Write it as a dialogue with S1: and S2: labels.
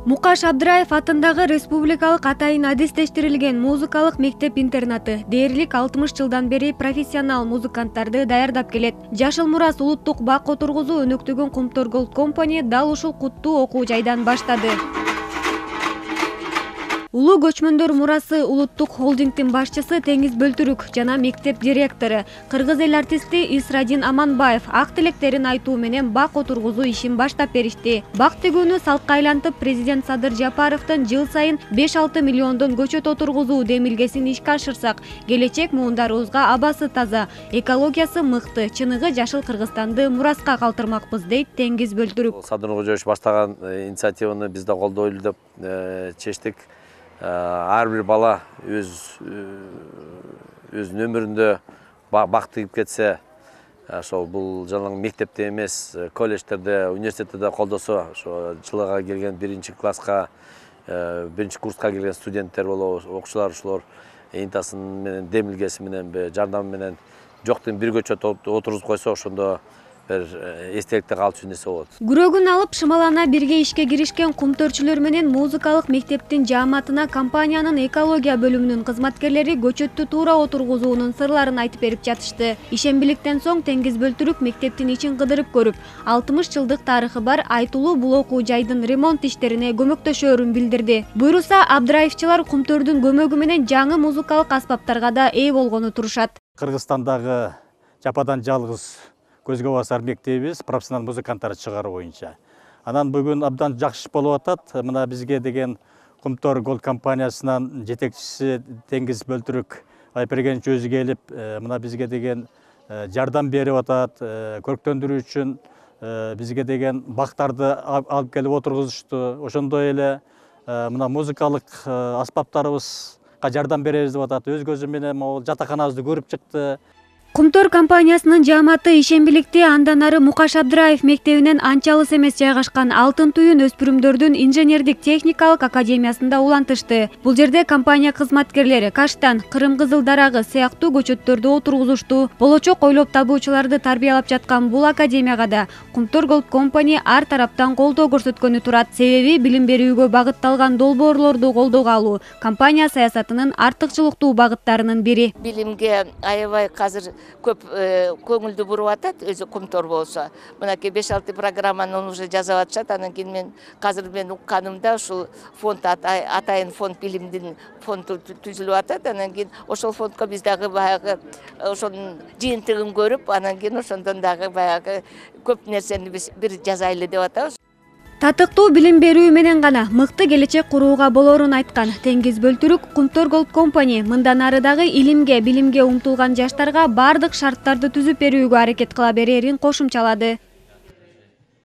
S1: Мукаш Абдраев атындагы республикалык атайын адистештирилген музыкалык мектеп-интернаты дээрлик 60 жылдан бери профессионал музыканттарды даярдап келет. Жашыл Мурас улуттук бак отургузуу өнөктөгөн Кумтор Голд Компани дал ушул куттуу окуу жайдан баштады. Улуу көчмөндөр мурасы улуттук холдингдин башчысы Теңиз Бөлтүрүк жана мектеп директору кыргыз эл артисти Исрадин Аманбаев ак тилектерин айтуу менен бак отургузуу ишин баштап беришти. Бак тигүүнү салтка айлантып, президент Садыр Жапаровдун жыл сайын 5-6 миллиондон көчөт отургузуу демилгесин ишке ашырсак, келечек муундарыбызга абасы таза, экологиясы мыкты, чыныгы жашыл Кыргызстанды мураска калтырмакпыз, дейт Теңиз Бөлтүрүк.
S2: Садыр Кожоевич баштаган инициативаны биз да колдойлу деп чечтик. Ар бир бала өзүнүн өмүрүндө бак тигип кетсе, ошол бул жалаң мектепте эмес, колледждерде, университетте колдосо, ошо жылга келген 1-класска, 1-курска келген студенттер болобу, окуучулар ушулар энтасын менен, демилгеси менен, жардамы менен жоктун бир көчөт отургузуп койсо, ошондо эстеликте калчу нерсе болот.
S1: Күрөгүн алып шымалана бирге ишке киришкен кумтөрчүлөр менен музыкалык мектептин жааматына компаниянын экология бөлүмүнүн кызматкерлери көчөттү туура отургузуунун сырларын айтып берип жатышты. Ишембиликтен соң Теңиз Бөлтүрүк мектептин ичин кыдырып көрүп, 60 жылдык тарыхы бар айтылуу бул окуу жайдын ремонт иштерине көмөктөшөөрүн билдирди. Буйруса, Абдраевчылар кумтөрдүн көмөгү менен жаңы музыкалык аспаптарга да ээ болгону турушат.
S3: Кыргызстандагы жападан жалгыз көзгө басар мектебибиз профессионал музыканттарды чыгаруу боюнча. Анан бүгүн абдан жакшы болуп атат. Мына бизге деген Кумтор Голд компаниясынын жетекчиси Теңиз Бөлтүрүк Айпергенович өзү келип, мына бизге деген жардам берип атат. Көрктөндүрүү үчүн бизге деген бактарды алып келип отургузушту. Ошондой эле мына музыкалык аспаптарыбызга жардам беребиз деп атат. Өз көзү менен могул жатаканабызды көрүп чыкты.
S1: Кумтор компаниясынын жааматы ишембиликти андан ары Мукаш Абдраев мектебинен анча алыс эмес жайгашкан Алтын Түйүн өспүрүмдөрдүн инженердик техникалык академиясында улантышты. Бул жерде компания кызматкерлери каштан, Кырым кызыл дарагы сыяктуу көчөттөрдү отургузушту. Болочок ойлоп табуучуларды тарбиялап жаткан бул академияга да Кумтор Голд Компани ар тараптан колдоо көрсөткөнү турат. Себеби билим берүүгө багытталган долбоорлорду колдоого алуу компания саясатынын артыкчылыктуу багыттарынын бири.
S4: Билимге аябай азыр көп көңүлдү буруп атат, өзү Кумтор болсо. Мынакей 5-6 программаны уже жазып атышат. Анан кийин мен азыр укканымда ушул фонд атайын фонд билимдин фонду түзүлүп атат. Анан кийин ошол фондко биз дагы баягы ошонун жыйынтыгын көрүп, анан кийин ошондон дагы баягы көп нерсени биз бир жазайлы деп атабыз.
S1: Татыктуу билим берүү менен гана мыкты келечек курууга болоорун айткан Теңиз Бөлтүрүк Кумтор Голд Компани мындан ары дагы илимге, билимге умтулган жаштарга бардык шарттарды түзүп берүүгө аракет кыла берерин кошумчалады.